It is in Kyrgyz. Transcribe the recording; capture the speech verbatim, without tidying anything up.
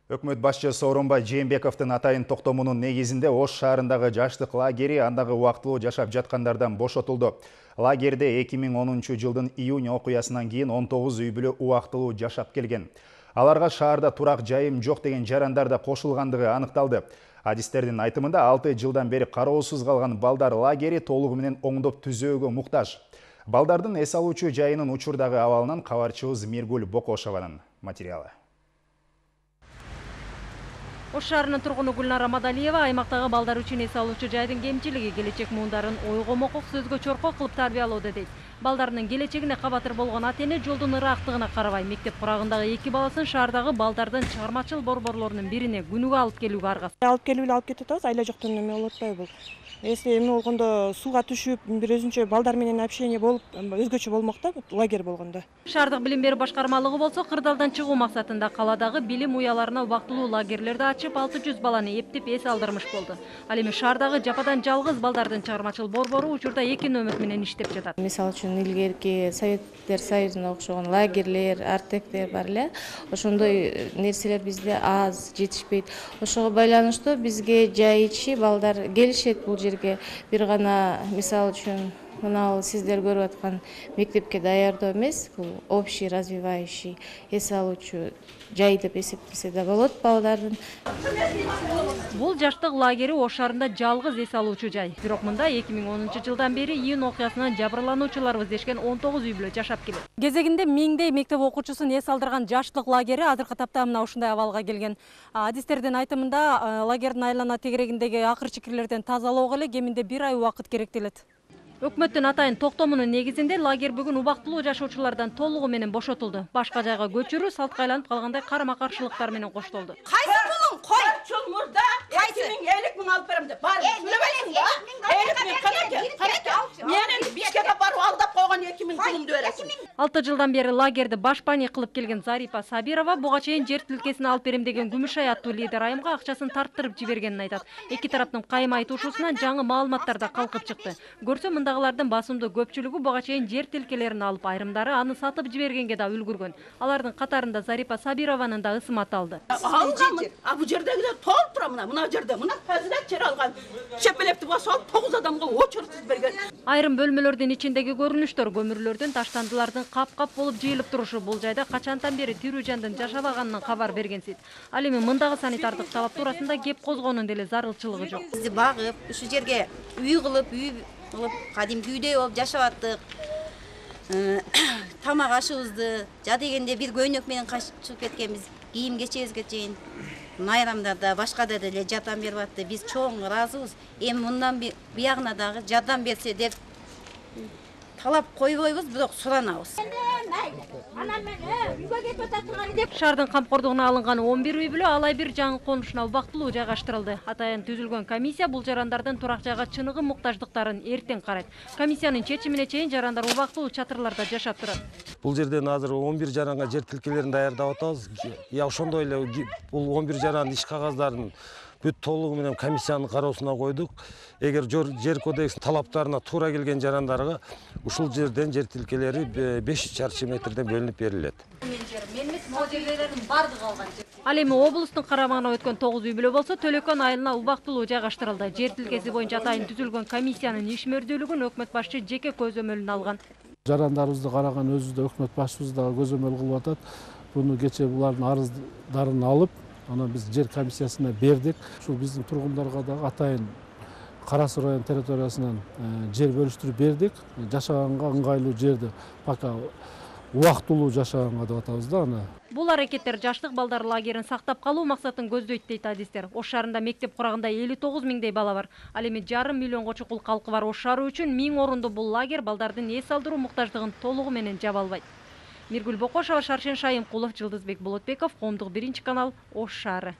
Өкмөт башчы Сооронбай Жээнбековдун атайын токтомунун негизинде Ош шаарындагы жаштык лагери андагы убактылуу жашап жаткандардан бошотулду. Лагерде эки миң онунчу жылдын июнь окуясынан кийин он тогуз үй бүлө убактылуу жашап келген. Аларга шаарда турак жайым жок деген жарандар да кошулгандыгы аныкталды. Адистердин айтымында алты жылдан бери кароосуз калган балдар лагери толугу менен оңдоп түзөөгө муктаж. Балдардын эс алуучу жайынын учурдагы абалынан кабарчыбыз Миргүл Бокошованын материалы. Ош шаарынын тургуну Гүлнара Мадалиева аймактагы балдар үчүн эс алуучу жайдын кемчилиги келечек муундарын ойгомокок сөзгө чоркоо кылып тарбиялоодо дейт. Балдарынын келечегине кабатыр болгон ата-эне жолдун ыраактыгына карабай мектеп курагындагы эки баласын шаардагы балдардын чыгармачыл борборлорунун бирине күнүгө алып келүүгө аргасыз. Алып келип эле алып кетип атабыз, айла жоктон эме болуп атпайбы бул. Если эме болгондо сууга түшүп, бир өзүнчө балдар менен общение болуп, өзгөчө болмок да лагерь болгондо. Шаардык билим берүү башкармалыгы болсо кырдаалдан чыгуу максатында каладагы билим уяларына убактылуу лагерлерди ачып алты жүз баланы эптеп эс алдырмыш болду. Ал эми шаардагы жападан жалгыз балдардын чыгармачыл борбору учурда эки нөмөт менен иштеп жатат. Мисалы үчүн илгерки Советтер Союзуна окшогон лагерлер, артектер бар эле. Ошондой нерселер бизде аз, жетишпейт. Ошого байланыштуу бизге жай ичи балдар келишет бул жерге. Бир гана мисалы үчүн мына сиздер көрүп аткан мектепке даярдоо эмес, бул общий развивающий эс алуучу жай деп эсептесе да болот балдардын. Бул жаштык лагери Ош шаарында жалгыз эс алуучу жай. Бирок мында эки миң онунчу жылдан бери июнь окуясынан жабырлануучуларыбыз дешкен он тогуз үй бүлө жашап келет. Кезегинде миңдей мектеп окуучусун эс алдырган жаштык лагери азыркы тапта мына ушундай абалга келген. Адистердин айтымында лагердин айлана тегерегиндеги акыр чикирлерден тазалоого эле кеминде бир ай убакыт керектелет. Өкмөттүн атайын токтомунун негизинде лагерь бүгүн убактылуу жашоочулардан толугу менен бошотулду. Башка жайга көчүрүү салтка айланып калгандай карама-каршылыктар менен коштолду. Кайсы пулуң кой? Чулмурда эки миң элүү миң алып берем деп. Бар, сүйлөбөйсүң да? элүү миң канеке, канеке. Менин Бишкекке барып алдап койгон эки миң пулумду бересиң. алты жылдан бери лагерди башпани кылып келген Зарипа Сабирова буга чейин жер тилкесин алып берем деген Күмүшай аттуу лидер айымга акчасын тарттырып жибергенин айтат. Эки тараптын кайым айтышуусунан жаңы маалыматтар да калкып чыкты. Көрсө мындагылардын басымдуу көпчүлүгү буга чейин жер тилкелерин алып, айрымдары аны сатып жибергенге да үлгүргөн. Алардын катарында Зарипа Сабированын да ысымы аталды. Алганмын. А бу жердегилер толуп тура мына, мына жерде, мына фазилет жер алган. Чепелепти басып тогуз адамга очередсиз берген. Айрым бөлмөлөрдүн ичиндеги көрүнүштөр көмүрлөрдүн, таштандылардын кап-кап болуп жыйылып турушу бул жайда качантан бери тирүү жандын жашабаганынан кабар бергенсиз. Ал эми мындагы санитардык талап туурасында кеп козгоонун деле зарылчылыгы жок. Бизди багып, ушу жерге үй кылып, үй кылып, кадимки үйдөй болуп жашап аттык. Тамак ашыбызды жа дегенде бир көйнөк менен качып кеткенбиз, кийим кечебизге чейин. Майрамдарда башкада деле жардам берип атты. Биз чоң ыраазыбыз. Эми мындан биягына дагы жардам берсе деп талап койбойбуз, бирок суранабыз. Шаардын камкордугуна алынган он бир үй бүлө алай бир жаңы конушуна убактылуу жайгаштырылды. Атайын түзүлгөн комиссия бул жарандардын турак жайга чыныгы муктаждыктарын эртең карайт. Комиссиянын чечимине чейин жарандар убактылуу чатырларда жашап турат. Бул жерден азыр он бир жаранга жер тилкелерин даярдап атабыз. Я ошондой эле бул он бир жарандын иш кагаздарын бүт толугу менен комиссиянын кароосуна койдук. Эгер жер кодексинин талаптарына туура келген жарандарга ушул жерден жер тилкелери беш чарчы метрден бөлүнүп берилет. Ал эми облустун карамагына өткөн тогуз үй бүлө болсо Төлөкөн айылына убактылуу жайгаштырылды. Жер тилкеси боюнча атайын түзүлгөн комиссиянын ишмердүүлүгүн өкмөт башчы жеке көзөмөлүнө алган. Жарандарыбызды караган өзүбүздө өкмөт башчыбыз да көзөмөл кылып атат. Буну кече булардын арыздарын алып, аны биз жер комиссиясына бердик. Ушул биздин тургундарга дагы атайын Кара Суу район территориясынан жер бөлүштүрүп бердик. Жашаганга ыңгайлуу жерди пока убактылуу жашаганга деп атабыз да аны. Бул аракеттер жаштык балдар лагерин сактап калуу максатын көздөйт дейт адистер. Ош шаарында мектеп курагында элүү тогуз миңдей бала бар. Ал эми жарым миллионго чукул калкы бар Ош шаары үчүн миң орунду бул лагерь балдардын эс алдыруу муктаждыгын толугу менен жаба албайт. Миргүл Бокошова, Шаршен Шайымкулов, Жылдызбек Болотбеков, Коомдук биринчи канал, Ош шаары.